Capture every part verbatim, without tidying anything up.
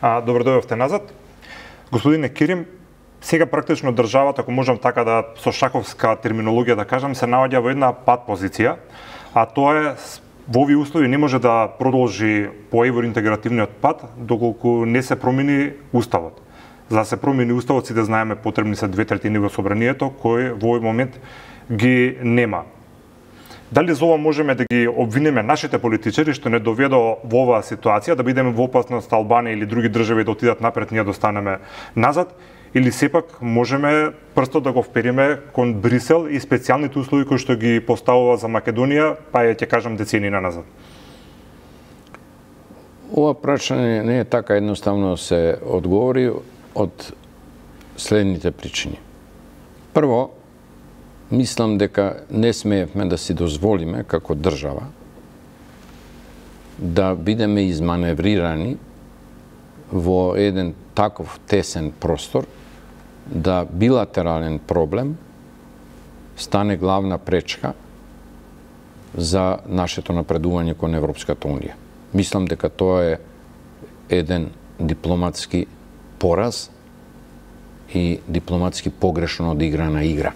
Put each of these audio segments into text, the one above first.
А, добро дојдовте назад. Господине Кирим, сега практично државата, ако можам така да со шаковска терминологија да кажам, се наоѓа во една пат позиција, а тоа е во овие услови не може да продолжи по евроинтегративниот пат доколку не се промени уставот. За да се промени уставот, сите знаеме, потребни се две третини во собранието, кој во овој момент ги нема. Дали за ова можеме да ги обвинеме нашите политичари што не доведо во оваа ситуација, да бидеме во опасност Албанија или други држави да отидат напред, ние да останеме назад, или сепак можеме прстот да го впериме кон Брисел и специјалните услови кои што ги поставува за Македонија, па ја ќе кажам децении назад? Ова прашање не е така едноставно се одговори од следните причини. Прво, мислам дека не смеевме да си дозволиме како држава да бидеме изманеврирани во еден таков тесен простор, да билатерален проблем стане главна пречка за нашето напредување кон Европската унија. Мислам дека тоа е еден дипломатски пораз и дипломатски погрешно одиграна игра.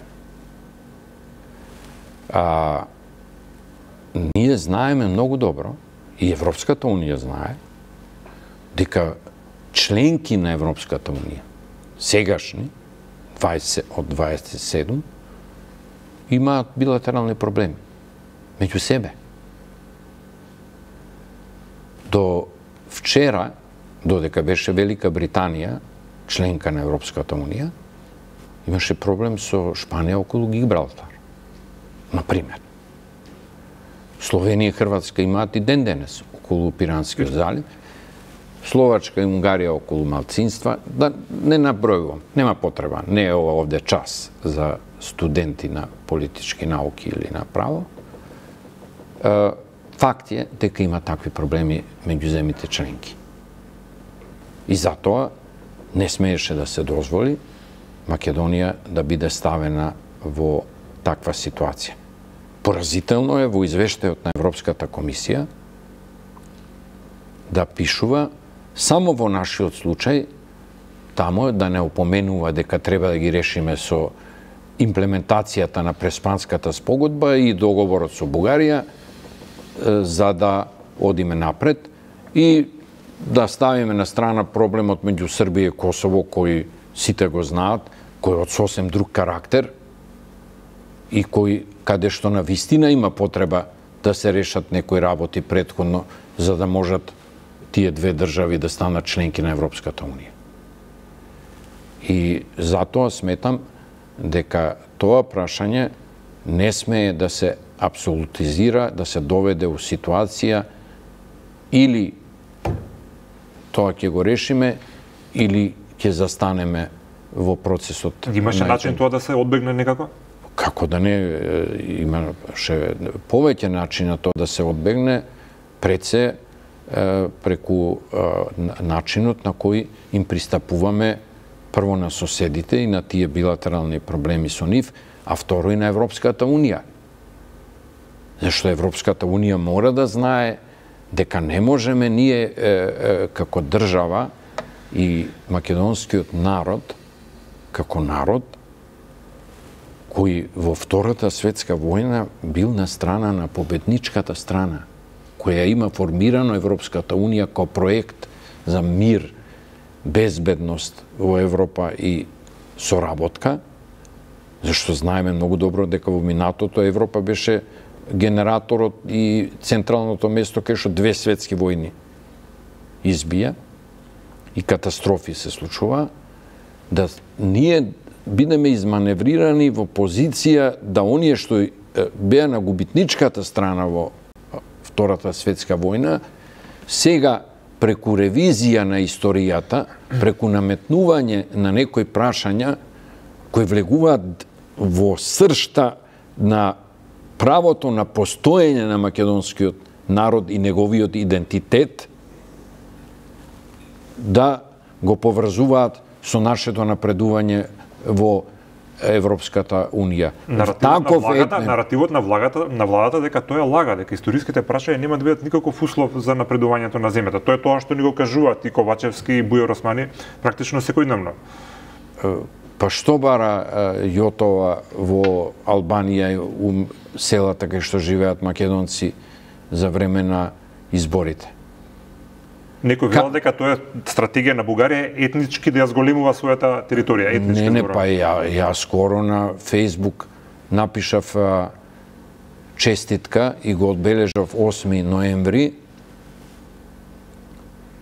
А, ние знаеме многу добро, и Европската унија знае, дека членки на Европската унија, сегашни, дваесет од дваесет и седум, имаат билатерални проблеми меѓу себе. До вчера, додека беше Велика Британија, членка на Европската унија, имаше проблем со Шпанија околу Гибралтар. Например, Словенија и Хрватска имаат и ден денес околу Пиранскиот залив, Словачка и Унгарија околу малцинства, да не набројувам, нема потреба, не е ова овде час за студенти на политички науки или на право. Факт е дека има такви проблеми меѓу земите членки. И затоа не смееше да се дозволи Македонија да биде ставена во таква ситуација. Поразително е во извештајот на Европската комисија да пишува само во нашиот случај, тамо да не опоменува дека треба да ги решиме со имплементацијата на Преспанската спогодба и договорот со Бугарија, за да одиме напред и да ставиме на страна проблемот меѓу Србија и Косово, кој сите го знаат, кој е од сосем друг карактер и кој каде што на вистина има потреба да се решат некои работи претходно, за да можат тие две држави да станат членки на Европската унија. И затоа сметам дека тоа прашање не смее да се апсолутизира, да се доведе у ситуација или тоа ќе го решиме, или ќе застанеме во процесот. Имаше начин тоа да се одбегне некако? Како да не, имаше повеќе начина тоа да се одбегне, пред се преку начинот на кој им пристапуваме прво на соседите и на тие билатерални проблеми со нив, а второ и на Европската унија. Зашто Европската унија мора да знае дека не можеме ние е, е, како држава и македонскиот народ, како народ, кој во Втората светска војна бил на страна на победничката страна, која има формирано Европската унија како проект за мир, безбедност во Европа и соработка, зашто знаеме многу добро дека во минатото Европа беше генераторот и централното место кај што две светски војни избија и катастрофи се случува, да ние бидеме изманеврирани во позиција да оние што беа на губитничката страна во Втората светска војна, сега преку ревизија на историјата, преку наметнување на некои прашања кои влегуваат во сршта на правото на постоење на македонскиот народ и неговиот идентитет, да го поврзуваат со нашето напредување во Европската унија. Наративот на влагата, етмен... наративот на влагата, на владата дека тоа е лага, дека историските прашања нема да бидат никаков услов за напредувањето на земјата. Тоа е тоа што ни го кажуваат и Ковачевски и Бујар Османи практично секојдневно. Па што бара Јотова во Албанија и у селата кај што живеат македонци за време на изборите? Некој велел дека тоа е стратегија на Бугарија етнички да ја зголемува својата територија, етнички. Не, не, па ја, ја скоро на Фејсбук напишав а, честитка и го одбележав осми ноември,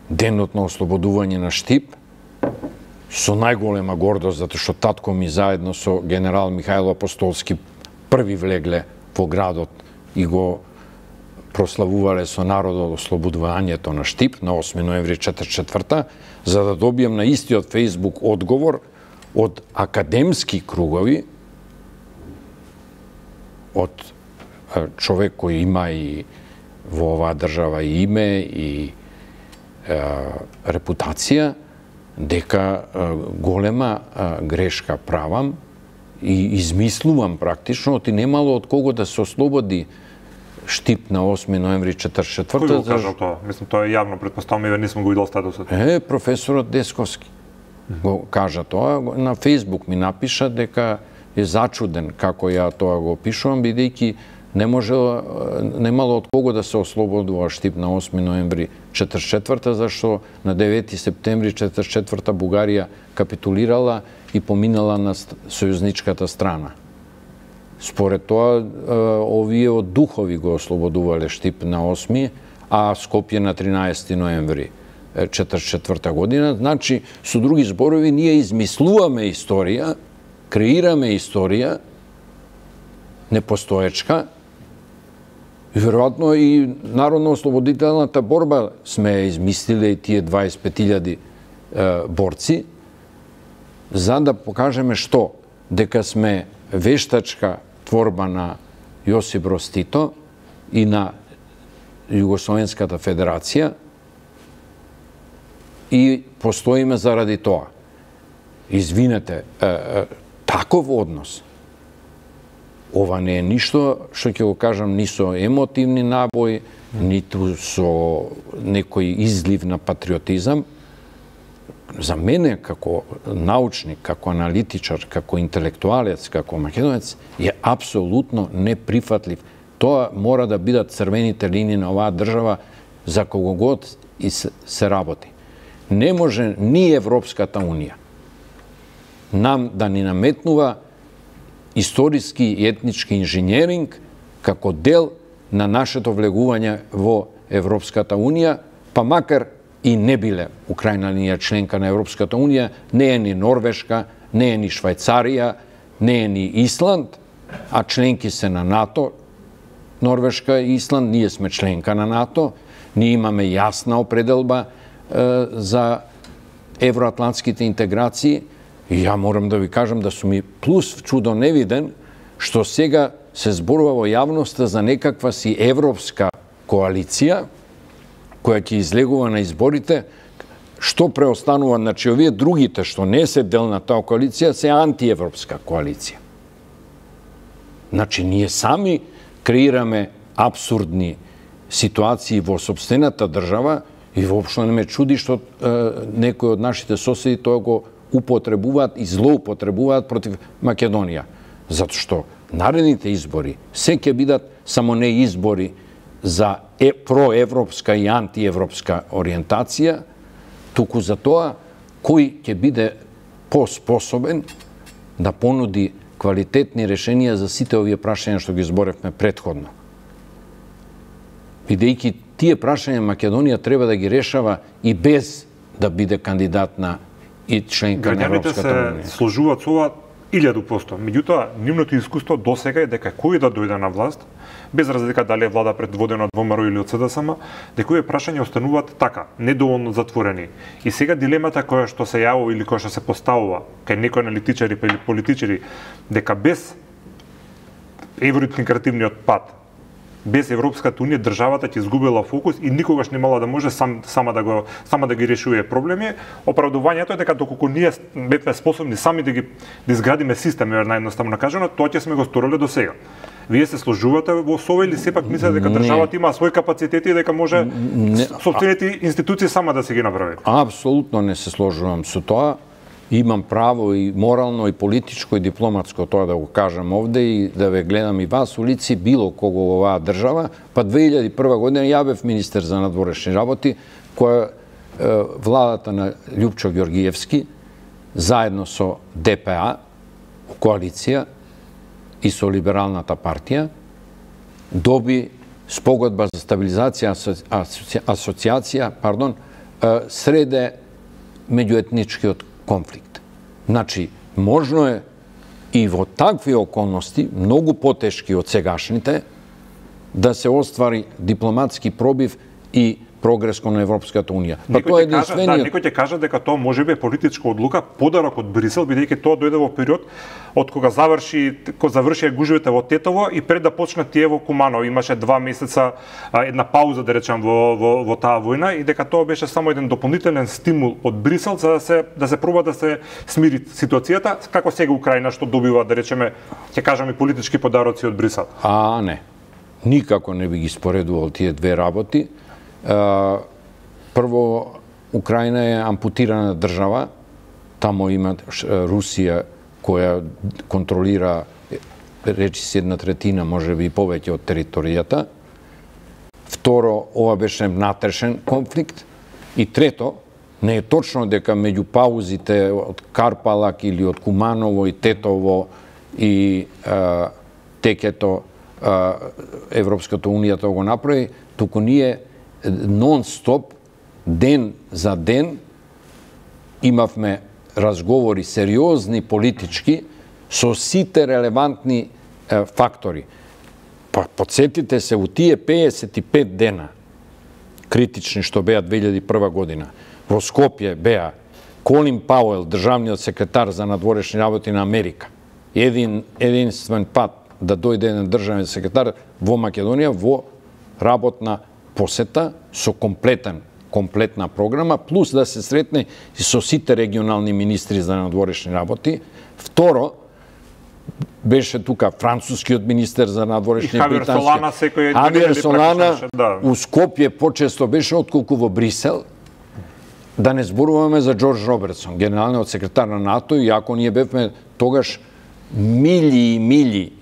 денот на ослободување на Штип, со најголема гордост, затоа што татко ми заедно со генерал Михајло Апостолски први влегле во градот и го прославувале со народот ослободувањето на Штип на осми ноември четиридесет и четврта, за да добијам на истиот Фејсбук одговор од академски кругови, од човек кој има и во оваа држава и име и е, репутација, дека е, голема е, грешка правам и измислувам практично, оти немало од кого да се ослободи Штип на осми ноември четиридесет и четврта. Кој го кажал тоа? Мислам, тоа е јавно, претпоставам, еве не сум го видел статусот. Е, професорот Десковски го кажа тоа. На Фејсбук ми напиша дека е зачуден како ја тоа го пишувам, бидејќи не може, немало од кого да се ослободува Штип на осми ноември четиридесет и четврта, зашто на девети септември четиридесет и четврта Бугарија капитулирала и поминала на сојузничката страна. Според тоа, овие од духови го ослободувале Штип на осми, а Скопје на тринаесети ноември четиридесет и четврта година. Значи, со други зборови, ние измислуваме историја, креираме историја, непостоечка, и веројатно и народно-ослободителната борба сме ја измислиле и тие дваесет и пет илјади борци, за да покажеме што? Дека сме вештачка творба на Јосип Броз Тито и на Југословенската федерација и постоиме заради тоа. Извинете, е, е, таков однос, ова не е ништо, што ќе го кажам, ни со емотивни набои, ниту со некој излив на патриотизам. За мене, како научник, како аналитичар, како интелектуалец, како македонец, е апсолутно неприфатлив. Тоа мора да бидат црвените линии на оваа држава за кого год и се работи. Не може ни Европската унија нам да ни наметнува историски и етнички инженеринг како дел на нашето влегување во Европската унија, па макар и не биле Украина линија членка на Европската унија, не е ни Норвешка, не е ни Швајцарија, не е ни Исланд, а членки се на НАТО. Норвешка и Исланд, ние сме членка на НАТО, ние имаме јасна определба е, за евроатлантските интеграции. И ја морам да ви кажам да сум и плюс чудо невиден, што сега се зборува во јавноста за некаква си европска коалиција, која ќе излегува на изборите, што преостанува, значи овие другите што не се дел на таа коалиција, се антиевропска коалиција. Значи ние сами креираме абсурдни ситуации во сопствената држава и воопшто не ме чуди што е, некои од нашите соседи тоа го употребуваат и злоупотребуваат против Македонија. Затоа што наредните избори се ќе бидат само не избори за е, проевропска и антиевропска ориентација, туку за тоа кој ќе биде поспособен да понуди квалитетни решенија за сите овие прашања што ги зборевме претходно. Бидејќи тие прашања Македонија треба да ги решава и без да биде кандидат на и членка на Европската унија. Граѓаните се сложуваат со ова илјаду посто. Меѓутоа, нивното искуство досега е дека кој да дојде на власт, без разлика дали е влада предводена од ВМРО или од СДСМ, дека овие прашања остануваат така, недоволно затворени. И сега дилемата која што се јавува или која што се поставува кај некои аналитичари или политичари, дека без евроинтегративниот пат без Европската унија државата ќе изгубила фокус и никогаш немала да може сам, сама да го сама да ги решува проблеми. Оправдувањето е дека доколку ние бевме способни сами да ги да изградиме систем, наједноставно кажано, тоа ќе сме го сториле до сега. Вие се сложувате во СОВ или сепак мислите дека државата има свој капацитети и дека може сопствените институции сама да се ги направи? Апсолутно не се сложувам со тоа. Имам право и морално, и политичко, и дипломатско тоа да го кажам овде и да ве гледам и вас у лици, било кого во оваа држава. Па две илјади и прва година ја бев министер за надворешни работи, која е, владата на Љупчо Ѓоргиевски, заедно со Д П А, коалиција и со Либералната партија, доби спогодба за стабилизација, асоциација, пардон, среде меѓуетничкиот конфликт. Значи, можно е и во такви околности, многу потешки од сегашните, да се оствари дипломатски пробив и прогрес кон Европската унија. Па тоа е единствениот... Да, некој ќе каже дека тоа може би е политичка одлука, подарок од Брисел, бидејќи тоа дојде во период од кога заврши, кога завршија гужвите во Тетово и пред да почнат тие во Куманово. Имаше два месеца една пауза, да речем, во, во, во таа војна и дека тоа беше само еден дополнителен стимул од Брисел за да се да се проба да се смири ситуацијата, како сега Украина што добива, да речеме, ќе кажеме, политички подароци од Брисел. А, не. Никако не би ги споредувал тие две работи. Uh, прво, Украина е ампутирана држава, тамо има Русија која контролира, речи се една третина, може би и повеќе од територијата. Второ, ова беше внатрешен конфликт. И трето, не е точно дека меѓу паузите од Карпалак или од Куманово и Тетово и uh, Текето uh, Европската унија тоа го направи, туку ние нон-стоп, ден за ден, имавме разговори сериозни политички со сите релевантни е, фактори. Па подсетите се у тие пеесет и пет дена критични што беа две илјади и прва година. Во Скопје беа Колин Пауел, државниот секретар за надворешни работи на Америка. Един единствен пат да дојде еден државен секретар во Македонија во работна посета со комплетен, комплетна програма, плюс да се сретне и со сите регионални министри за надворешни работи. Второ, беше тука францускиот министер за надворешни британски. И Хавер Солана секој Хавер Солана да. У Скопје почесто беше отколку во Брисел. Да не зборуваме за Џорџ Робертсон, генералниот секретар на НАТО, иако ние бевме тогаш мили и мили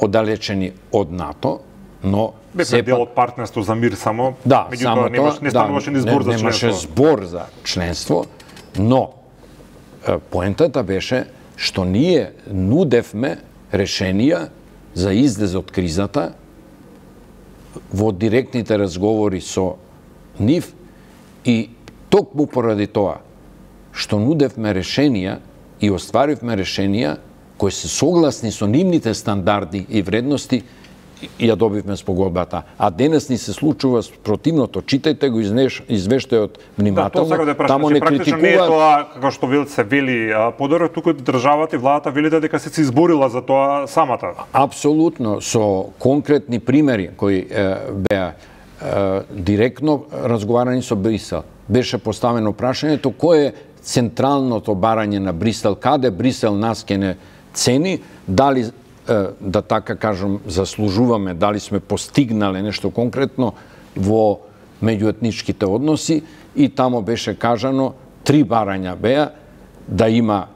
оддалечени од НАТО, но бевме дел од партнерство за мир само, да, меѓутоа немаш, не стануваше ни збор не, за членство. Немаше збор за членство, но поентата беше што ние нудевме решенија за излез од кризата во директните разговори со нив и токму поради тоа што нудевме решенија и остваривме решенија кои се согласни со нивните стандарди и вредности, ја добивме спогодбата. А денес ни се случува противното. Читајте го извештајот внимателно. Да, тоа да тамо не критикуваат. Не е тоа како што вел се вели подоро, туку државата и владата велите дека се се изборила за тоа самата. Апсолутно, со конкретни примери кои е, беа е, директно разговарани со Брисел. Беше поставено прашањето кој е централното барање на Брисел, каде Брисел нас ке не цени, дали да така кажам, заслужуваме, дали сме постигнале нешто конкретно во меѓуетничките односи и тамо беше кажано, три барања беа, да има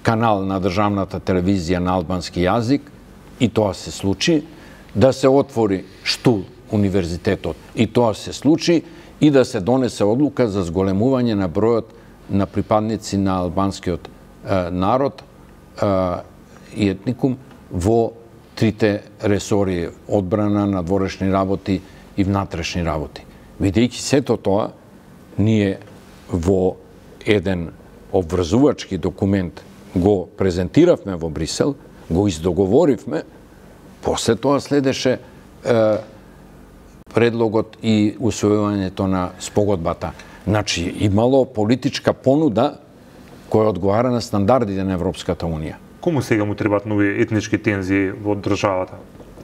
канал на државната телевизија на албански јазик и тоа се случи, да се отвори Штул универзитетот и тоа се случи и да се донесе одлука за зголемување на бројот на припадници на албанскиот е, народ е, и етникум во трите ресори одбрана, надворешни работи и внатрешни работи. Видејќи сето тоа, ние во еден обврзувачки документ го презентиравме во Брисел, го издоговоривме, после тоа следеше е, предлогот и усвојувањето на спогодбата. Значи, имало политичка понуда која одговара на стандардите на Европската унија. Кому сега му требаат нови етнички тензии во државата?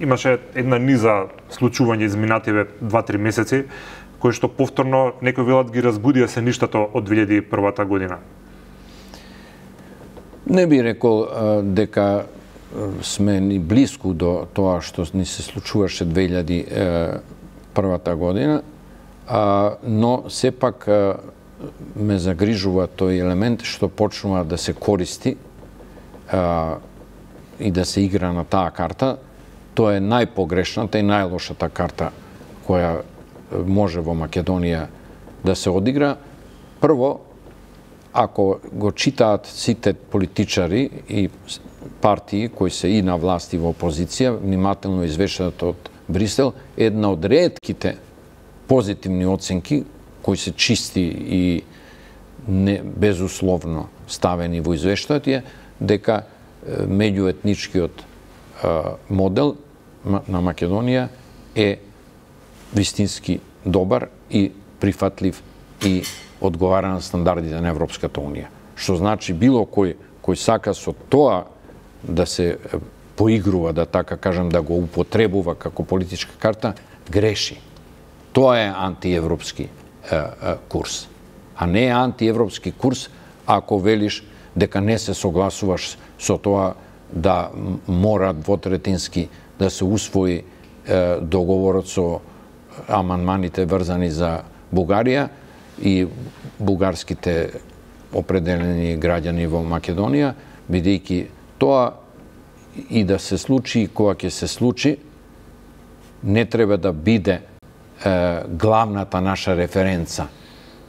имаше една низа случување изминативе два-три месеци, кои што повторно некои велат ги разбудија се ништото од две илјади и првата година. Не би рекол дека сме ни близко до тоа што ни се случуваше две илјади и првата година, но сепак ме загрижува тој елемент што почнува да се користи и да се игра на таа карта. Тоа е најпогрешната и најлошата карта која може во Македонија да се одигра. Прво, ако го читаат сите политичари и партии кои се и на власт и во опозиција, внимателно извештаат од Брисел, една од ретките позитивни оценки кои се чисти и не безусловно ставени во извештајот е дека меѓуетничкиот модел на Македонија е вистински добар и прифатлив и одговара на стандардите на Европската Унија. Што значи било кој кој сака со тоа да се поигрува, да така кажам, да го употребува како политичка карта, греши. Тоа е антиевропски е, е, курс. А не е антиевропски курс ако велиш дека не се согласуваш со тоа да мора двотретински да се усвои е, договорот со амандманите врзани за Бугарија и бугарските определени граѓани во Македонија, бидејќи тоа и да се случи, и кога ќе се случи, не треба да биде е, главната наша референца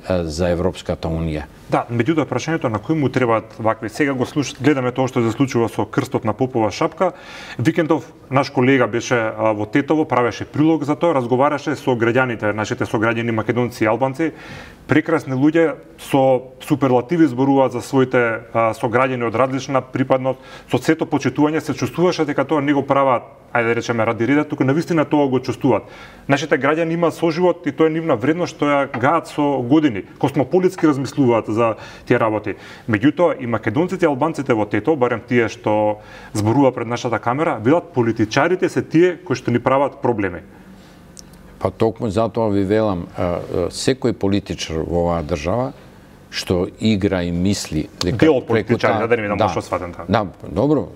е, за Европската Унија. Да, меѓутоа прашањето на кој му требаат вакви. Сега го слуш... гледаме тоа што се случува со крстот на попова шапка. Викендов наш колега беше а, во Тетово, правеше прилог за тоа, разговараше со граѓаните, нашите сограѓани македонци и албанци. Прекрасни луѓе со суперлативи зборуваат за своите а, сограѓани од различна припадност, со сето почитување се чувствуваше дека тоа не го прават, ајде да речеме ради реда, туку навистина тоа го чувствуваат. Нашите граѓани имаат соживот и тоа е нивна вредност што ја гаат со години. Космополитски размислуваат за тие работи. Меѓутоа и македонците и албанците во Тето, барем тие што зборува пред нашата камера, велат политичарите се тие кои што ни прават проблеми. Па токму затоа ви велам, секој политичар во оваа држава што игра и мисли дека дел од политичари, да не видам што сватен така. Да, добро,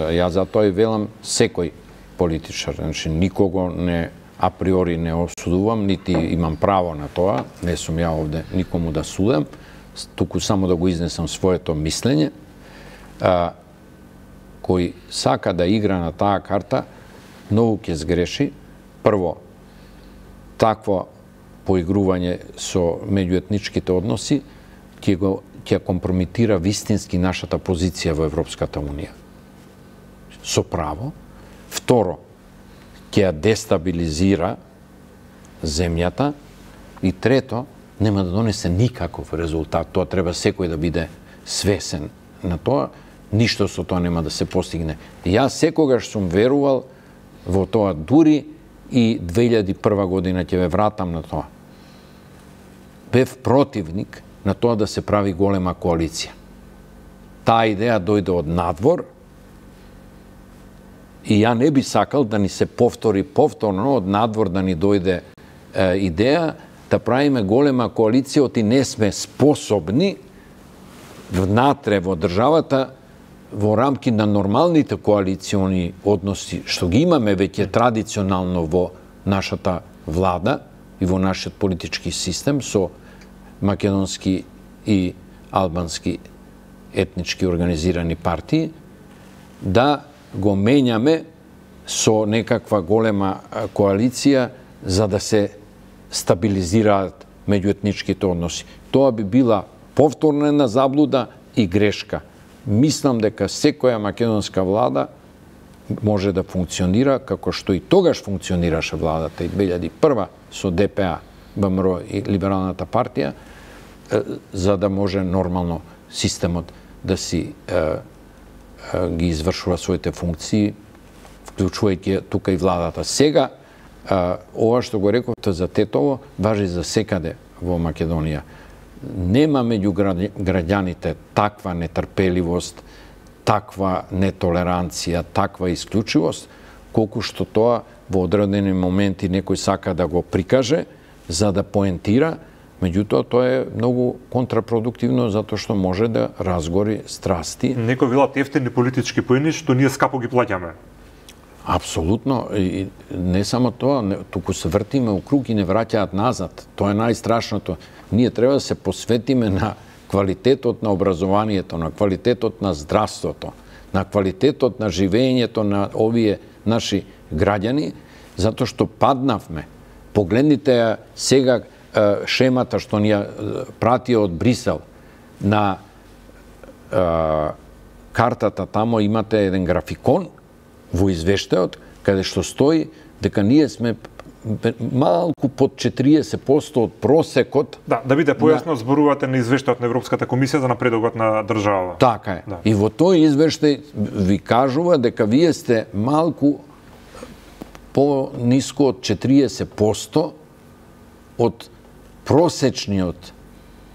ја затоа и велам секој политичар, значи никого не априори не осудувам, нити имам право на тоа, не сум ја овде никому да судам, туку само да го изнесам своето мислење, а, кој сака да игра на таа карта, многу ќе сгреши. Прво, такво поигрување со меѓуетничките односи ќе го ќе компрометира вистински нашата позиција во Европската Унија. Со право. Второ, ќе ја дестабилизира земјата. И трето, нема да донесе никаков резултат. Тоа треба секој да биде свесен на тоа. Ништо со тоа нема да се постигне. Јас секогаш сум верувал во тоа, дури и две илјади и прва година ќе ве вратам на тоа. Бев противник на тоа да се прави голема коалиција. Таа идеја дојде од надвор и ја не би сакал да ни се повтори повторно од надвор да ни дојде е, идеја да правиме голема коалиција, оти не сме способни внатре во државата во рамки на нормалните коалициони односи што ги имаме веќе традиционално во нашата влада и во нашиот политички систем со македонски и албански етнички организирани партии, да го менјаме со некаква голема коалиција за да се стабилизираат меѓуетничките односи. Тоа би била повторна една заблуда и грешка. Мислам дека секоја македонска влада може да функционира како што и тогаш функционираше владата и две илјади и прва со Д П А, Б М Р и Либералната партија, за да може нормално системот да си е, е, ги извршува своите функции, вклучувајќи тука и владата. Сега, е, ова што го рековте за Тетово, важи за секаде во Македонија. Нема меѓу граѓаните таква нетрпеливост, таква нетолеранција, таква исклучивост, колку што тоа во одредени моменти некој сака да го прикаже за да поентира, меѓутоа тоа е многу контрапродуктивно затоа што може да разгори страсти. Некој велат ефтини политички поени што ние скапо ги плаќаме. Апсолутно, и не само тоа, не, туку се вртиме у круг и не враќаат назад. Тоа е најстрашното. Ние треба да се посветиме на квалитетот на образованието, на квалитетот на здравството, на квалитетот на живеењето на овие наши граѓани, затоа што паднавме. Погледнете ја сега шемата што ни ја прати од Брисел. На е, картата тамо имате еден графикон во извештајот, каде што стои дека ние сме малку под четириесет проценти од просекот. Да, да биде појасно, на... зборувате на извештајот на Европската комисија за напредокот на држава. Така е. Да. И во тој извештај ви кажува дека вие сте малку по-ниско од четириесет проценти од просечниот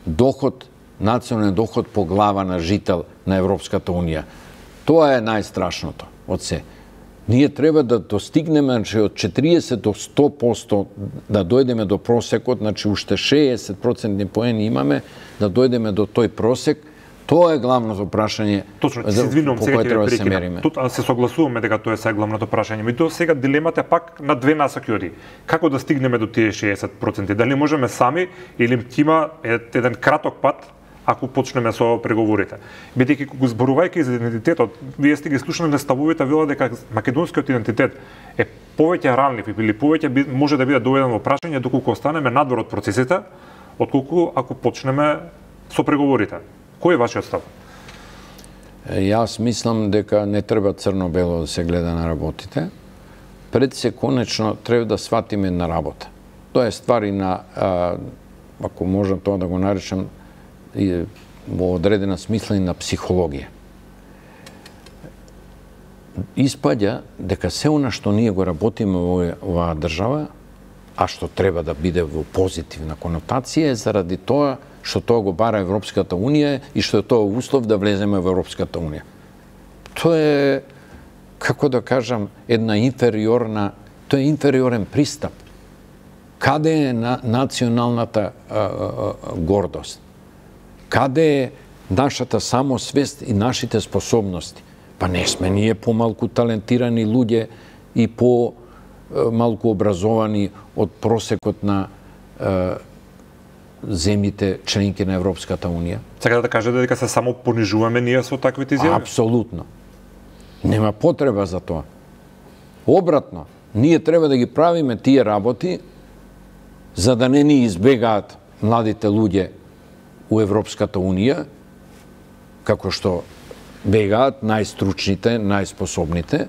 доход, национален доход по глава на жител на Европската унија. Тоа е најстрашното од се. Ние треба да достигнеме, значи, од четириесет до сто проценти да дојдеме до просекот, значи уште шеесет проценти поени имаме, да дојдеме до тој просек. Тоа е главното прашање. Точно, се извинувам, по сега кое ќе треба ве да се прекинам. мериме. Тут се согласуваме дека тоа е сега главното прашање. Меѓутоа сега дилемата пак на две насоки оди. Како да стигнеме до тие шеесет проценти? Дали можеме сами или ќе има еден краток пат ако почнеме со преговорите? Бидејќи го зборувајќи за идентитетот, вие сте ги слушнале ставовите, вела дека македонскиот идентитет е повеќе ранлив или повеќе може да биде доведен во прашање доколку останеме надвор од процесите, отколку ако почнеме со преговорите. Кој е вашиот став? Јас мислам дека не треба црно-бело да се гледа на работите. Пред се конечно треба да сватиме на работа. Тоа е ствар и на, а, ако можам тоа да го наречам, и во одредена смисла и на психологија. Испаѓа дека се она што ние го работиме во оваа држава, а што треба да биде во позитивна конотација, е заради тоа што тоа го бара Европската унија и што е тоа услов да влеземе во Европската унија. Тоа е, како да кажам, една инфериорна, тоа е инфериорен пристап. Каде е на, националната а, а, гордост? Каде е нашата самосвест и нашите способности? Па не сме ние помалку талентирани луѓе и по малку образовани од просекот на а, земјите членки на Европската унија. Сега да кажете дека се само понижуваме ние со таквите изјави? Апсолутно. Нема потреба за тоа. Обратно, ние треба да ги правиме тие работи за да не ни избегаат младите луѓе у Европската унија, како што бегаат најстручните, најспособните,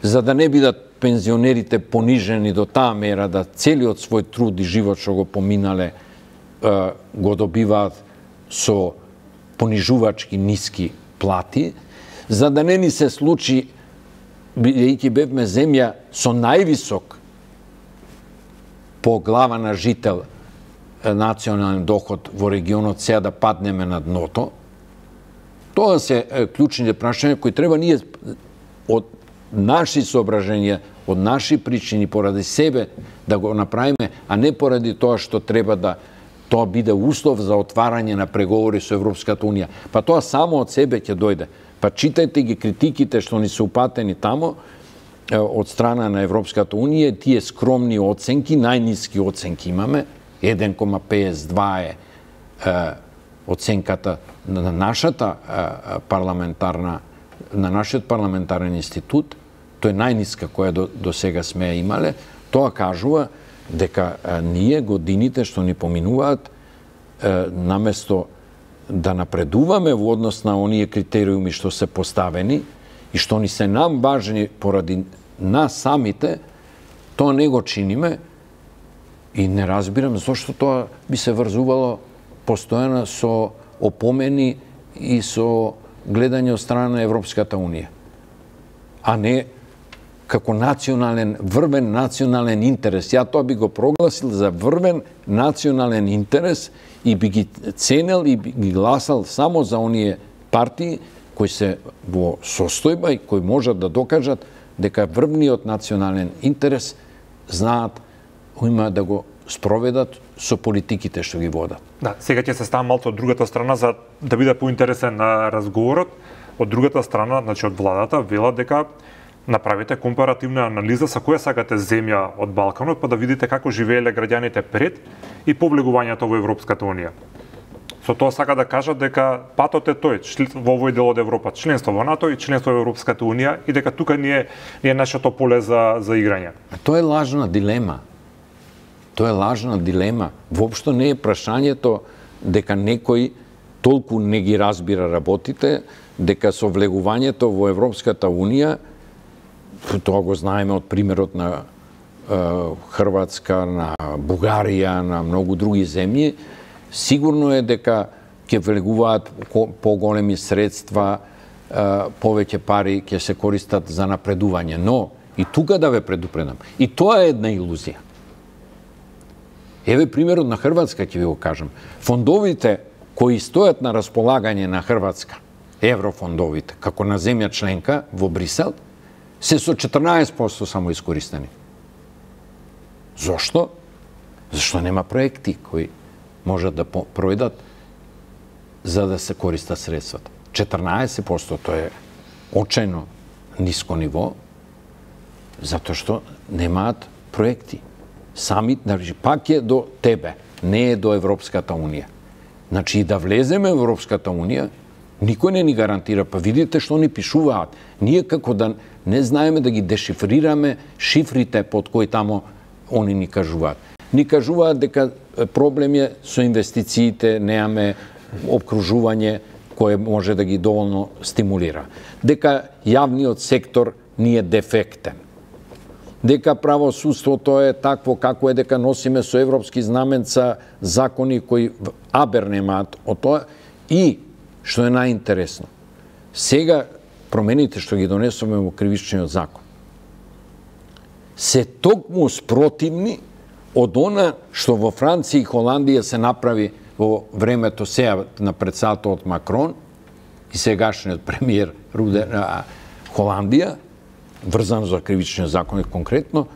за да не бидат пензионерите понижени до таа мера да целиот свој труд и живот што го поминале го добиваат со понижувачки ниски плати, за да не ни се случи, бидејќи бевме земја со највисок по глава на жител национален доход во регионот, сега да паднеме на дното. Тоа се клучните прашања кои треба ние од наши соображенија, од наши причини, поради себе да го направиме, а не поради тоа што треба да тоа биде услов за отварање на преговори со Европската унија. Па тоа само од себе ќе дојде. Па читајте ги критиките што ни се упатени тамо од страна на Европската унија, тие скромни оценки, најниски оценки имаме, еден кома педесет и два е, е оценката на нашата е, парламентарна, на нашиот парламентарен институт, тоа е најниска која до, до сега сме имале. Тоа кажува дека е, ние годините што ни поминуваат, е, наместо да напредуваме во однос на оние критериуми што се поставени и што ни се нам важни поради нас самите, тоа не го чиниме и не разбирам зошто тоа би се врзувало постојано со опомени и со гледање од страна на Европската унија, а не како национален, врвен национален интерес. Ја тоа би го прогласил за врвен национален интерес и би ги ценел и би ги гласал само за оние партии кои се во состојба и кои можат да докажат дека врвниот национален интерес знаат има да го спроведат со политиките што ги водат. Да, сега ќе се ставам малку од другата страна за да биде поинтересен на разговорот. Од другата страна, значи од владата велат дека направите компаративна анализа со која сакате земја од Балканот, па да видите како живееле граѓаните пред и по влегувањето во Европската унија. Со тоа сака да кажат дека патот е тој, во овој дел од Европа, членство во НАТО и членство во Европската унија и дека тука не е, не е нашето поле за, за играње. Тоа е лажна дилема. Тоа е лажна дилема. Воопшто не е прашањето дека некој толку не ги разбира работите, дека со влегувањето во Европската унија, тоа го знаеме од примерот на е, Хрватска, на Бугарија, на многу други земји, сигурно е дека ќе влегуваат поголеми средства, е, повеќе пари ќе се користат за напредување. Но, и тука да ве предупредам, и тоа е една илузија. Еве примерот на Хрватска ќе ви го кажам. Фондовите кои стојат на располагање на Хрватска, еврофондовите, како на земја членка во Брисел, се со четрнаесет проценти само искористени. Зошто? Зашто нема проекти кои можат да проведат за да се користат средствата. четрнаесет проценти тоа е очајно ниско ниво, затоа што немаат проекти. Сами, значи, пак е до тебе, не е до Европската унија. Значи, и да влеземе во Европската унија, никој не ни гарантира, па видите што ни пишуваат. Ние како да не знаеме да ги дешифрираме шифрите под кои тамо они ни кажуваат. Ни кажуваат дека проблем е со инвестициите, неаме обкружување кое може да ги доволно стимулира. Дека јавниот сектор ни е дефектен. Дека правосудството е такво како е, дека носиме со европски знаменца закони кои абер немаат од тоа. И, што е најинтересно, сега промените што ги донесоме во кривичниот закон се токму спротивни од она што во Франција и Холандија се направи во времето сега на председателот Макрон и сегашниот премиер Руде Холандија, врзано за кривичниот закон конкретно,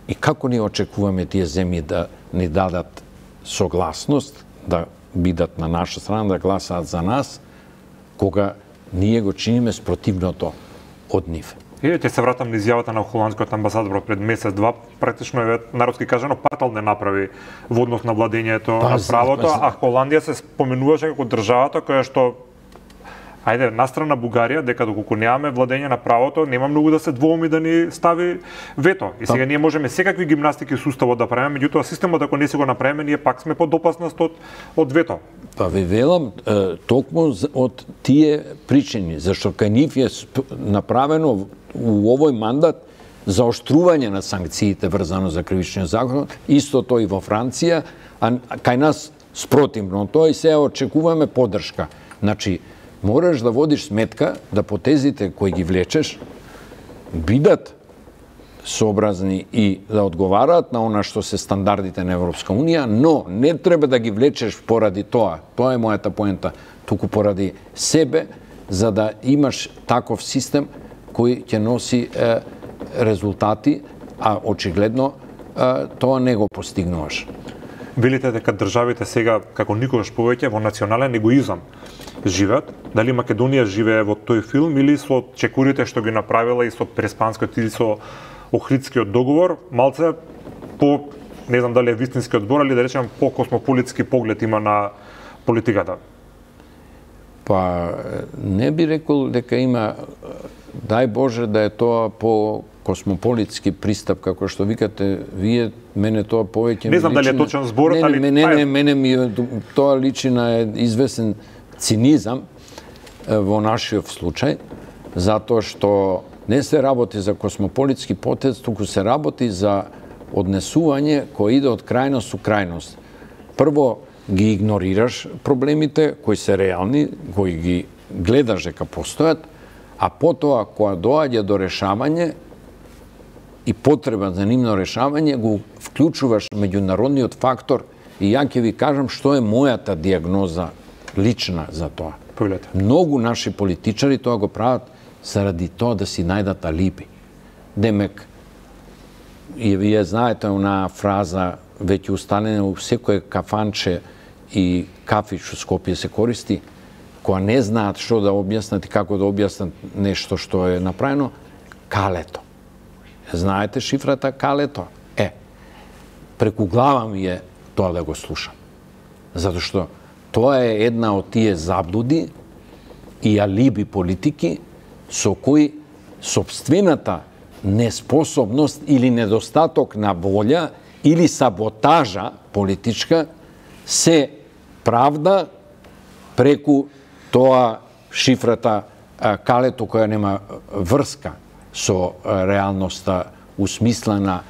и како ни очекуваме тие земји да ни дадат согласност, да бидат на наша страна, да гласаат за нас, кога ние го чиниме спротивното од нив. И ќе се вратам на изјавата на холандскиот амбасадор пред месец-два, практично е народски кажано патал не направи во однос на владењето на правото, а Холандија се споменуваше како државата која што ајде, настрана Бугарија, дека доколку немаме владење на правото, нема многу да се двоуми да ни стави вето. И сега ние можеме секакви гимнастики суставот да правиме, меѓутоа системот ако не си го направиме, ние пак сме под опасност од, од вето. Па ви велам, токму од тие причини, зашто кај нив е направено у овој мандат заоштрување на санкциите врзано за кривичниот закон, истото и во Франција, а кај нас спротивно тоа и сега очекуваме поддршка. Значи, мораш да водиш сметка да потезите кои ги влечеш бидат сообразни и да одговараат на она што се стандардите на Европска унија, но не треба да ги влечеш поради тоа. Тоа е мојата поента. Туку поради себе, за да имаш таков систем кој ќе носи е, резултати, а очигледно е, тоа не го постигнуваш. Велите дека државите сега, како никогаш повеќе, во национален егоизам живеат. Дали Македонија живее во тој филм или со чекурите што ги направила и со Преспанскиот и со Охридскиот договор, малце по, не знам дали е вистинскиот збор, или да речем по космополитски поглед има на политиката? Па, не би рекол дека има, дај Боже да е тоа по космополитски пристап, како што викате вие, мене тоа повеќе не знам дали е точен зборот, али мене мене, мене ми тоа личи на известен цинизам во нашиот случај, затоа што не се работи за космополитски потез, туку се работи за однесување кој иде од крајност у крајност. Прво ги игнорираш проблемите кои се реални, кои ги гледаш дека постојат, а потоа кога доаѓа до решавање и потреба за нивно решавање, го вклучуваш меѓународниот фактор и ја ќе ви кажам што е мојата диагноза лична за тоа. Повелете. Многу наши политичари тоа го прават заради тоа да си најдат алиби. демек, и вие знаете она фраза, веќе устанена у секое кафанче и кафич у Скопје се користи, која не знаат што да објаснат и како да објаснат нешто што е направено, калето. Знаете шифрата калето? Е, преку глава ми е тоа да го слушам. Затоа што тоа е една од тие заблуди и алиби политики со кои сопствената неспособност или недостаток на волја или саботажа политичка се правда преку тоа шифрата калето која нема врска со реалноста усмислена,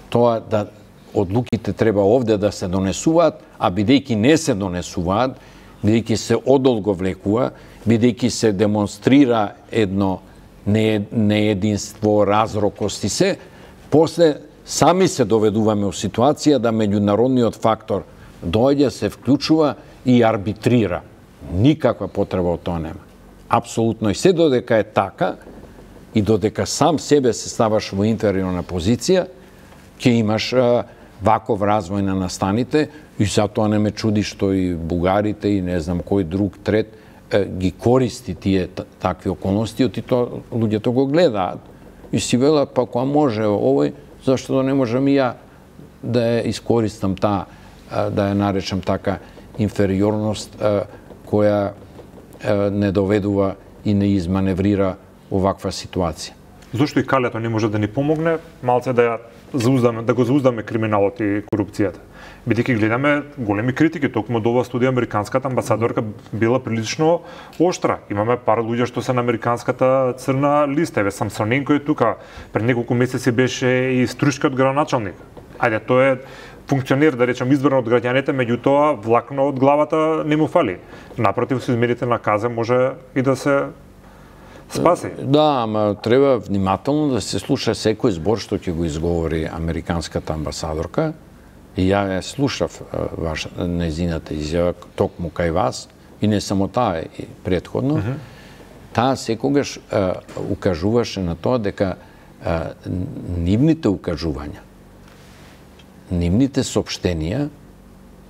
тоа да одлуките треба овде да се донесуваат, а бидејќи не се донесуваат, бидејќи се одолго влекува, бидејќи се демонстрира едно неединство, разрокост и се, после сами се доведуваме у ситуација да меѓународниот фактор доаѓа, се вклучува и арбитрира. Никаква потреба од тоа нема. Апсолутно. И се додека е така, и додека сам себе се ставаш во инфериорна позиција, ќе имаш а, ваков развој на настаните, и затоа не ме чуди што и бугарите и не знам кој друг трет е, ги користи тие такви околности, и тоа луѓето го гледаат. И си велат, па која може овој, зашто да не можам и ја да ја искористам таа, да ја наречам така инфериорност која не доведува и не изманеврира оваква ситуација. Зошто и калето не може да ни помогне малце да ја зауздаме, да го зауздаме криминалот и корупцијата? Бидејќи гледаме големи критики, токму од оваа студија американската амбасадорка била прилично оштра. Имаме пар луѓе што се на американската црна листа. Еве Самсоненко е тука, пред неколку месеци беше и Струшкиот градоначалник. Ајде, тоа е функционер, да речем, избран од граѓаните, меѓутоа влакно од главата не му фали. Напротив, со измените на каза може и да се спаси. Да, ама треба внимателно да се слуша секој збор што ќе го изговори американската амбасадорка. И ја ја слушав ваш незината изјава токму кај вас, и не само таа, и претходно. Mm -hmm. Таа секогаш а, укажуваше на тоа дека а, нивните укажувања, нивните соопштенија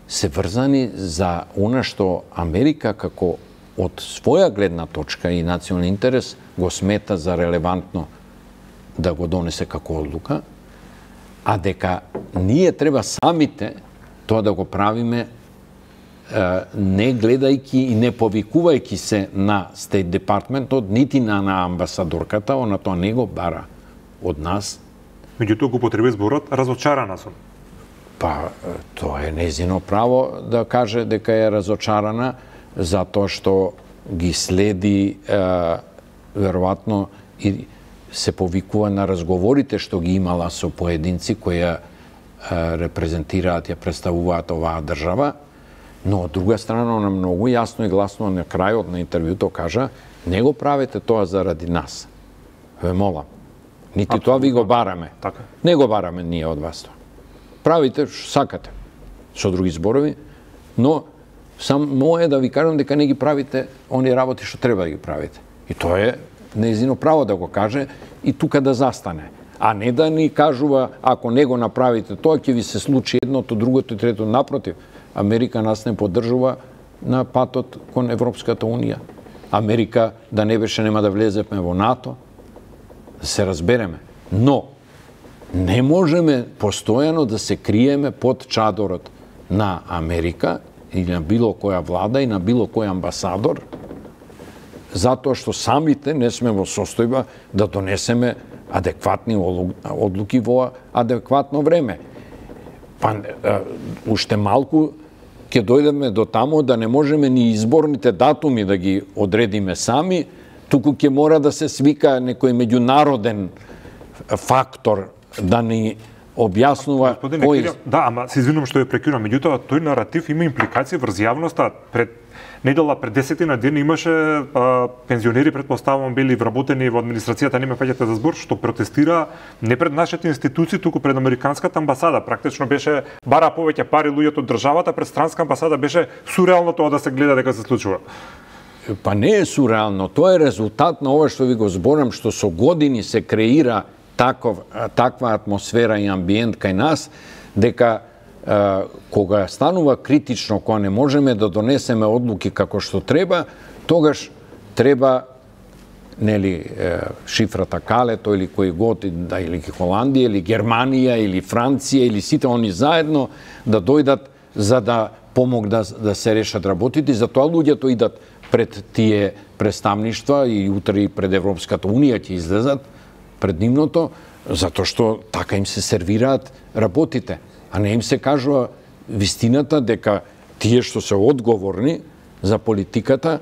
се врзани за она што Америка како од своја гледна точка и национален интерес го смета за релевантно да го донесе како одлука, а дека ние треба самите тоа да го правиме не гледајќи и не повикувајќи се на Стейт Департментот, нити на, на амбасадорката, она тоа не го бара од нас. Меѓутоа го употреби зборот разочарана сум. Па, тоа е незино право да каже дека е разочарана, затоа што ги следи е, веројатно и се повикува на разговорите што ги имала со поединци кои ја репрезентираат, ја представуваат оваа држава, но од друга страна она многу јасно и гласно на крајот на интервјуто кажа: не го правете тоа заради нас. Ве молам. Нити Абсолютно. Тоа ви го бараме. Така. Не го бараме ние од вас тоа. Правите што сакате, со други зборови, но само е да ви кажам дека не ги правите они работи што треба да ги правите. И тоа е нејзино право да го каже и тука да застане. А не да ни кажува, ако не го направите тоа, ќе ви се случи едното, другото и трето. Напротив, Америка нас не поддржува на патот кон Европската Унија. Америка да не беше нема да влеземе во НАТО, да се разбереме. Но не можеме постојано да се криеме под чадорот на Америка или на било која влада и на било кој амбасадор, затоа што самите не сме во состојба да донесеме адекватни одлуки во адекватно време. Па, уште малку ќе дојдеме до тамо да не можеме ни изборните датуми да ги одредиме сами, туку ќе мора да се свика некој меѓународен фактор да ни објаснува кој... Да, ама се извинувам што ја прекинувам, меѓутоа тој наратив има импликации врз јавноста. Пред недела, пред десетина дена имаше а, пензионери, предпоставувам, били вработени во администрацијата, не ме фаќате за збор, што протестира не пред нашите институции, туку пред американската амбасада. Практично беше бара повеќе пари луѓето од државата, пред странска амбасада беше сурреално тоа да се гледа дека се случува. Па не е сурреално, тоа е резултат на ова што ви го зборам, што со години се креира таков, таква атмосфера и амбиент кај нас, дека а, кога станува критично, кога не можеме да донесеме одлуки како што треба, тогаш треба нели шифрата Калето или кој год, да, или Холандија, или Германија, или Франција, или сите они заедно да дојдат за да помогнат да, да се решат работите. Затоа луѓето идат пред тие представништва и утре пред Европската Унија ќе излезат пред нивното, затоа што така им се сервираат работите, а не им се кажува вистината дека тие што се одговорни за политиката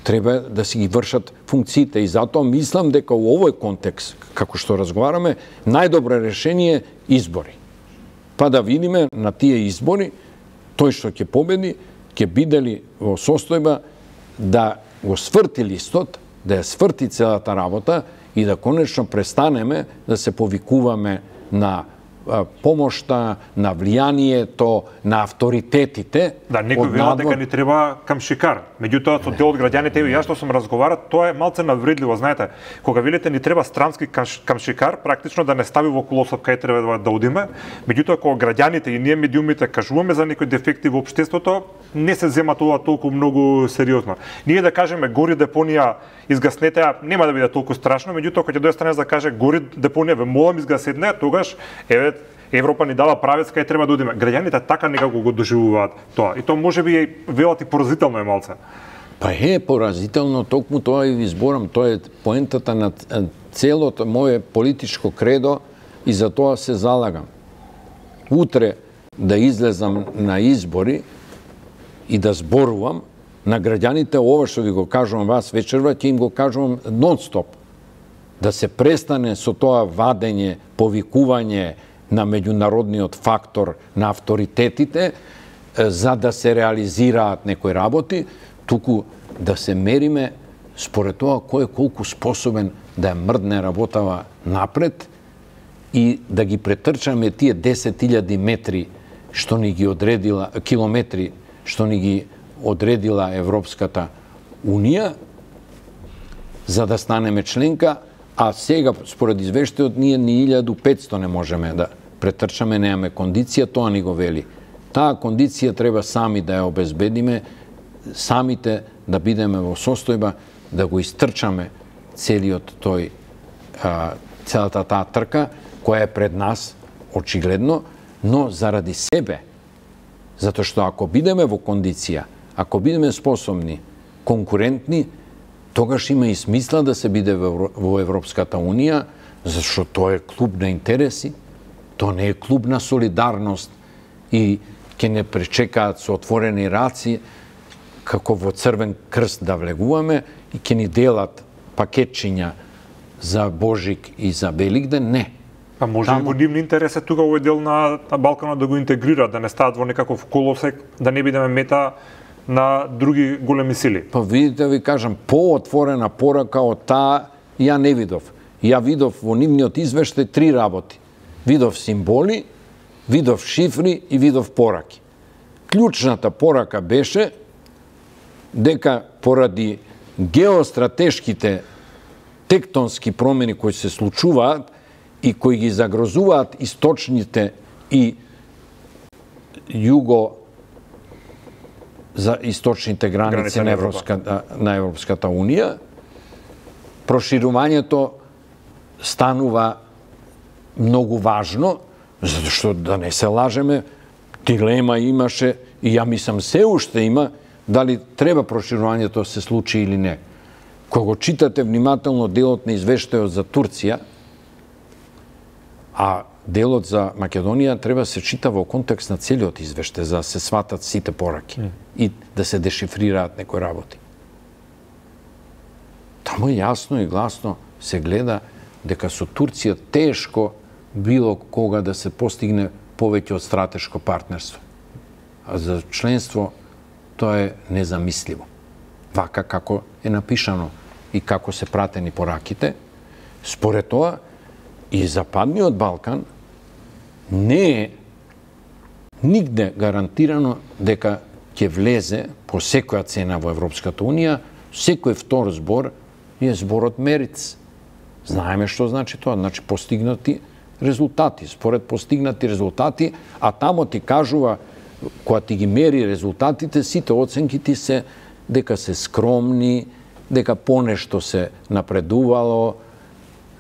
треба да си ги вршат функциите. И затоа мислам дека у овој контекст, како што разговараме, најдобро решение е избори. Па да видиме на тие избори, тој што ќе победи, ќе биде ли во состојба да го сврти листот, да ја сврти целата работа и да конечно престанеме да се повикуваме на помошта, на влијанието, на авторитетите. Да, некој велат дека ни треба камшикар. Меѓутоа, со дел од граѓаните, и јас што сум разговарат, тоа е малце навредливо, знаете. Кога велите ни треба странски камшикар, практично да не стави во колосот кај треба да одиме. Меѓутоа, кога граѓаните и ние медиумите кажуваме за некои дефекти во општеството, не се зема тоа толку многу сериозно. Ние да кажеме гори депонија, изгаснете, нема да биде толку страшно, меѓутоа кога ќе дојде странец да каже гори депонија, ве молам изгасете, тогаш еве Европа ни дава правец кај треба да одиме. Граѓаните така некако го доживуваат тоа. И тоа можеби велат и поразително е малце. Па е поразително, токму тоа и ви зборам, тоа е поентата на целото моје политичко кредо и за тоа се залагам. Утре да излезам на избори и да зборувам на граѓаните, ова што ви го кажувам вас вечерва, ќе им го кажувам нон-стоп. Да се престане со тоа вадење, повикување на меѓународниот фактор, на авторитетите, за да се реализираат некои работи, туку да се мериме според тоа кој е колку способен да ја мрдне работава напред и да ги претрчаме тие десет илјади метри што ни ги одредила, километри што ни ги одредила Европската Унија, за да станеме членка, а сега, според извештајот, ние ни илјаду и петсто не можеме да претрчаме, немаме кондиција, тоа ни го вели. Таа кондиција треба сами да ја обезбедиме, самите да бидеме во состојба да го истрчаме целиот тој, а, целата таа трка, која е пред нас, очигледно, но заради себе. Затоа што ако бидеме во кондиција, ако бидеме способни, конкурентни, тогаш има и смисла да се биде во Европската Унија, зашто тоа е клуб на интереси, тоа не е клуб на солидарност и ќе не пречекаат со отворени раци како во Црвен крст да влегуваме и ќе ни делат пакетчиња за Божик и за Великден, не. Па може Таму... и во нивни интерес е тука овој дел на, на Балканот да го интегрира, да не стават во некаков колосек, да не бидеме мета на други големи сили. Па видите, ви кажам, поотворена порака од таа ја не видов. Ја видов во нивниот извештај три работи. Видов символи, видов шифри и видов пораки. Клучната порака беше дека поради геостратешките тектонски промени кои се случуваат и кои ги загрозуваат источните и југо за источните граници на Европската, на Европската Унија, проширувањето станува многу важно, затоа што да не се лажеме, дилема имаше и ја мислам се уште има дали треба проширувањето се случи или не. Кога го читате внимателно делот на извештајот за Турција, а делот за Македонија треба се чита во контекст на целиот извештај, за да се сватат сите пораки mm. и да се дешифрираат некои работи. Таму јасно и гласно се гледа дека со Турција тешко било кога да се постигне повеќе од стратешко партнерство. А за членство тоа е незамисливо. Вака како е напишано и како се пратени пораките, според тоа и Западниот Балкан не е нигде гарантирано дека ќе влезе по секоја цена во Европската Унија, секој втор збор е зборот Мериц. Знаеме што значи тоа, значи постигнати резултати, според постигнати резултати, а тамо ти кажува, кога ти ги мери резултатите, сите оценки ти се дека се скромни, дека понешто се напредувало,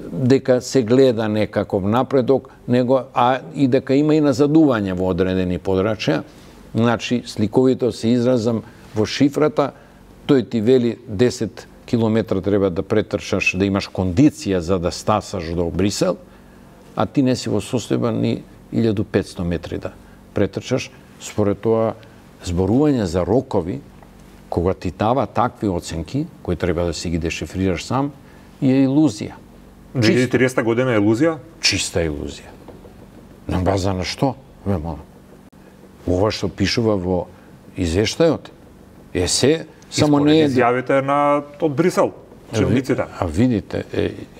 дека се гледа некаков напредок, него, а и дека има и назадување во одредени подрачја. Значи, сликовито се изразам во шифрата, тој ти вели десет километра треба да претрчаш, да имаш кондиција за да стасаш до Брисел, а ти не си во состојба ни илјаду и петсто метри да претрчаш. Според тоа, зборување за рокови, кога ти дава такви оценки, кои треба да си ги дешифрираш сам, е илузија. две илјади и триесета година е илузија? Чиста илузија. На база на што? Ве молам. Ова што пишува во извештајот е се, само не е... изјавите на од Брисел, чиновниците. А видите,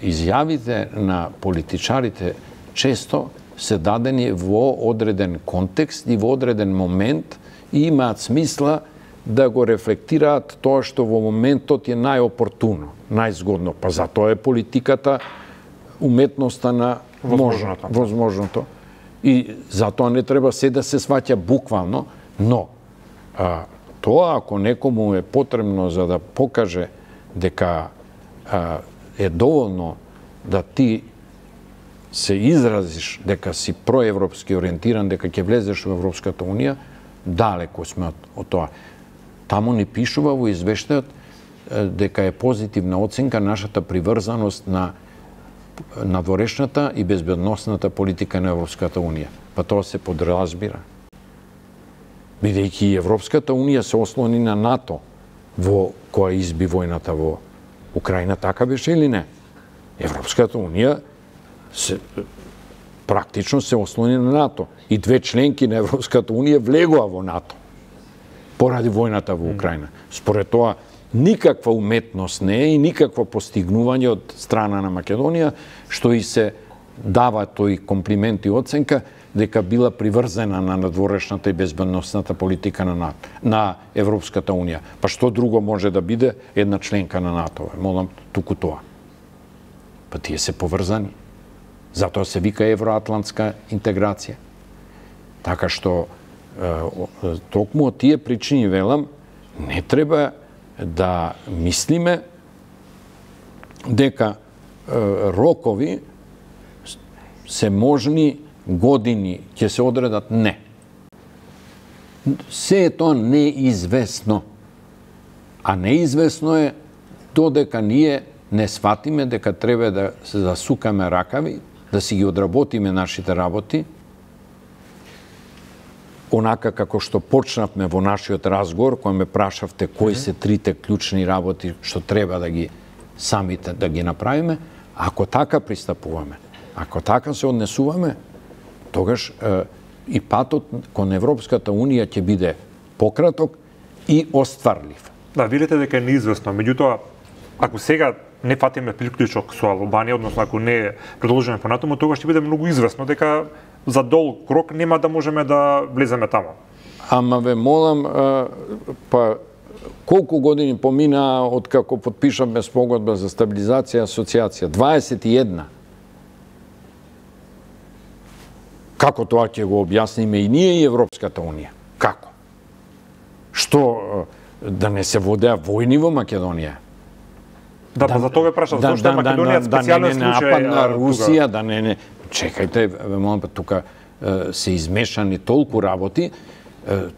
изјавите на политичарите често се дадени во одреден контекст и во одреден момент и имаат смисла да го рефлектираат тоа што во моментот е најопортуно, најзгодно. Па затоа е политиката уметноста на возможното. возможното. И затоа не треба се да се сваќа буквално, но а, тоа ако некому е потребно за да покаже дека а, е доволно да ти се изразиш дека си проевропски ориентиран, дека ќе влезеш во Европската унија, далеко сме од, од тоа. Таму ни пишува во извештајот дека е позитивна оценка нашата приврзаност на надворешната и безбедносната политика на Европската унија. Па тоа се подразбира. Бидејќи Европската унија се ослони на НАТО во која изби војната во Украина, така беше или не? Европската унија се, практично се ослони на НАТО. И две членки на Европската унија влегоа во НАТО поради војната во Украина. Според тоа, никаква уметност не е и никакво постигнување од страна на Македонија, што и се дава тој комплимент и оценка дека била приврзена на надворешната и безбедносната политика на НАТО, на Европската унија. Па што друго може да биде една членка на НАТО? Молам, туку тоа. Па тие се поврзани. Затоа се вика евроатлантска интеграција. Така што токму од тие причини, велам, не треба да мислиме дека рокови се можни години ќе се одредат. Не. Се е тоа неизвестно. А неизвестно е додека ние не сватиме дека треба да се засукаме ракави, да си ги одработиме нашите работи, онака како што почнавме во нашиот разговор, кој ме прашавте кои се трите клучни работи што треба да ги самите да ги направиме, ако така пристапуваме, ако така се однесуваме, тогаш е, и патот кон Европската унија ќе биде пократок и остварлив. Да, видите дека е неизвестно. Меѓутоа, ако сега не фатиме приклучок со Албанија, односно ако не продолжиме понатаму, тогаш ќе биде многу известно дека за долг крок нема да можеме да влеземе тамо. Ама ве молам, па колку години помина од како потпишавме спогодба за стабилизација и асоциација? дваесет и една. Како тоа ќе го објасниме и ние и Европската унија? Како? Што, да не се водеа војни во Македонија? Да, па за тоа ве прашав, зашто е Македонија специјален случај? Да не напад на Русија, да не не... Чекајте, ве молам, тука се измешани толку работи,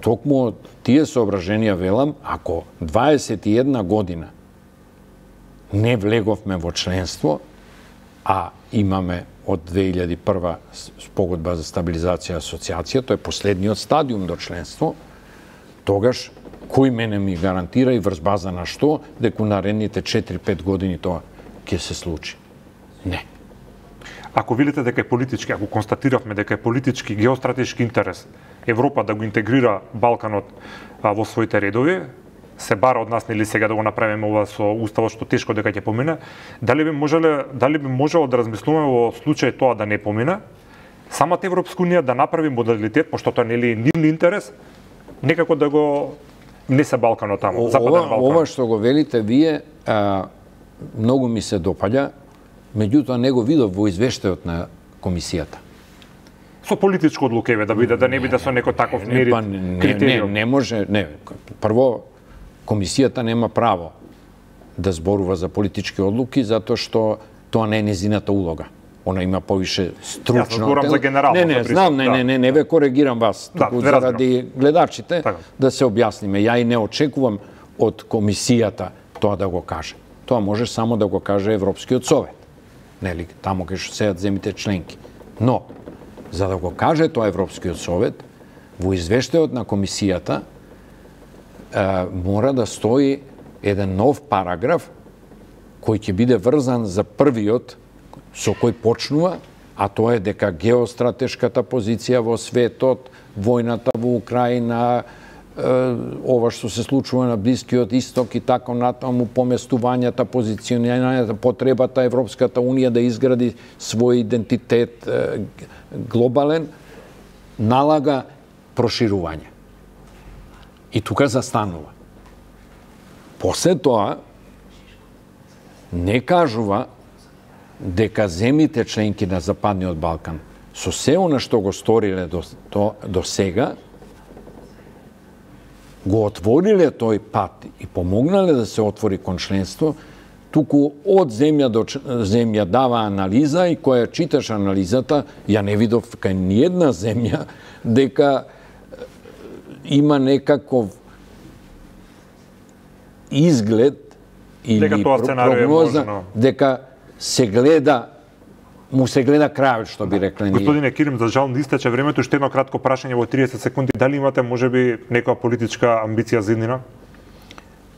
токму тие соображенија велам, ако дваесет и една година не влеговме во членство, а имаме од две илјади и прва спогодба за стабилизација и асоциација, тоа е последниот стадиум до членство, тогаш кој мене ми гарантира и врз база на што дека наредните четири-пет години тоа ќе се случи? Не. Ако видите дека е политички, ако констатиравме дека е политички геостратешки интерес Европа да го интегрира Балканот а, во своите редови, се бара од нас нели сега да го направиме ова со уставот што тешко дека ќе помине, дали би можеле, дали би можело да размислуваме во случај тоа да не помине, самата Европска унија да направи модалитет, пошто тоа нели е нивен интерес, некако да го внесе Балканот таму, Западен Балкан. Ова што го велите вие, а, многу ми се допаѓа, меѓутоа не го видов во извештајот на комисијата. Со политичко одлукеве да биде, да не биде со некој таков мерит, па, не, критериум. Не, не може, не. Прво, комисијата нема право да зборува за политички одлуки, затоа што тоа не е незината улога. Она има повише стручно... Јас зборам за генерално. Не, не, знам, не, не, не, не ве коригирам вас. Да, туку заради гледачите така. Да се објасниме. Ја и не очекувам од комисијата тоа да го каже. Тоа може само да го каже Европскиот совет. Нели, таму кај што седат земјите членки. Но, за да го каже тоа Европскиот совет, во извештајот на комисијата е, мора да стои еден нов параграф кој ќе биде врзан за првиот со кој почнува, а тоа е дека геостратешката позиција во светот, војната во Украина, ова што се случува на Блискиот Исток и така натаму, поместувањата, позиционирањата, потребата Европската Унија да изгради свој идентитет глобален, налага проширување. И тука застанува. После тоа не кажува дека земјите членки на Западниот Балкан со се она што го сториле до, до, до сега, го отвориле тој пат и помогнале да се отвори кон членство, туку од земја до земја дава анализа и која читаш анализата, ја не видов кај ниедна земја дека има некаков изглед или прогноза дека се гледа, му се гледа крајот, што би рекле ние. Господине Кирим, за жал не истече времето, уште едно кратко прашање во триесет секунди. Дали имате можеби некоја политичка амбиција за иднина?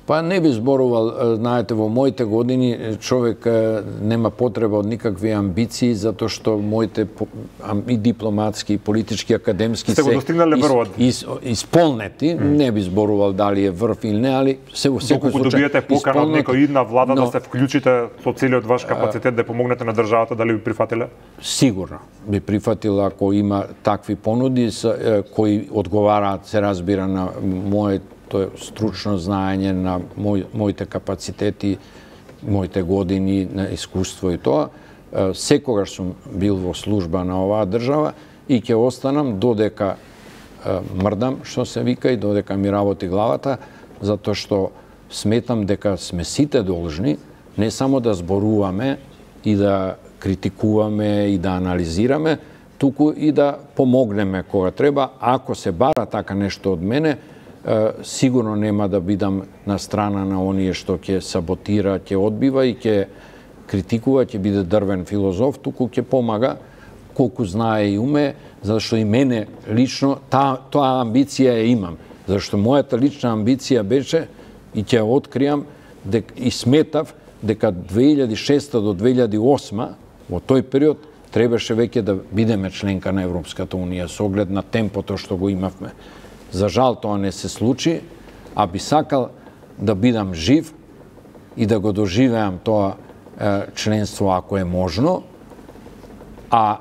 Па не би зборувал, знаете, во моите години човек нема потреба од никакви амбиции, затоа што моите и дипломатски, и политички, академски се ис, исполнети. Mm. Не би зборувал дали е врв или не, али се во секој случај. Доколку добиете покана од некој идна влада, но, да се вклучите со целиот ваш капацитет да помогнете на државата, дали би прифатиле? Сигурно би прифатила ако има такви понуди кои одговараат, се разбира, на мојот тоа стручно знаење на мој, моите капацитети, моите години на искуство и тоа. Секогаш сум бил во служба на оваа држава и ќе останам додека мрдам, што се вика, и додека ми работи главата, затоа што сметам дека сме сите должни не само да зборуваме и да критикуваме и да анализираме, туку и да помогнеме кога треба. Ако се бара така нешто од мене, сигурно нема да бидам на страна на оние што ќе саботира, ќе одбива и ќе критикува, ќе биде дрвен филозоф, туку ќе помага колку знае и уме, зашто и мене лично та, тоа амбиција ја имам. Зашто мојата лична амбиција беше, и ќе откријам, дек, и сметав дека две илјади и шеста до две илјади и осма, во тој период, требаше веќе да бидеме членка на Европската Унија, со оглед на темпото што го имавме. За жал тоа не се случи, а би сакал да бидам жив и да го доживеам тоа е, членство ако е можно, а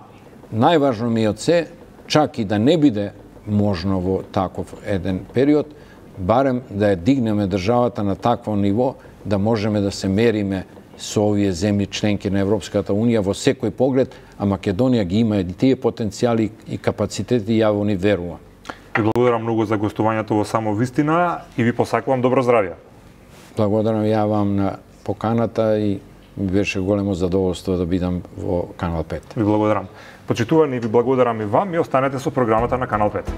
најважно ми е од се, чак и да не биде можно во таков еден период, барем да ја дигнеме државата на такво ниво, да можеме да се мериме со овие земји членки на Европската Унија во секој поглед, а Македонија ги има и тие потенцијали и капацитети, ја во ни верувам. Ви благодарам многу за гостувањето во Само вистина и ви посакувам добро здравје. Благодарам ја вам на поканата и ми беше големо задоволство да бидам во Канал пет. Ви благодарам. Почитувани, ви благодарам и вам и останете со програмата на Канал пет.